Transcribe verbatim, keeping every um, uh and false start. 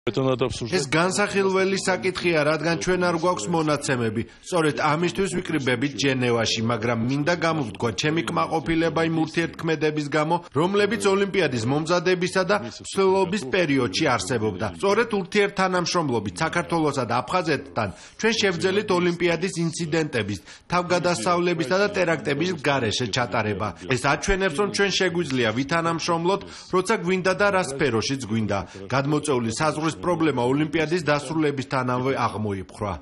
ეს განსახილველი საკითხია, რადგან ჩვენ არ გვაქვს მონაცემები. სწორედ ამისთვის ვიკრიბებით ჟენევაში, მაგრამ მინდა გამოვთქვა ჩემი კმაყოფილება იმ ურთიერთქმედების გამო, რომლებიც ოლიმპიადის მომზადებისა და მსვლელობის პერიოდში არსებობდა. სწორედ ურთიერთთანამშრომლობით საქართველოსა და აფხაზეთთან ჩვენ შევძელით ოლიმპიადის ინციდენტების, თავგადასავლებისა და ტერაქტების გარეშე ჩატარება. ეს აჩვენებს, რომ ჩვენ შეგვიძლია ვითანამშრომლოთ, როცა გვინდა და რა სფეროშიც გვინდა. გადმოწეული საზღვრის პრობლემა ოლიმპიადის დასრულებისთანავე აღმოიფხვრა.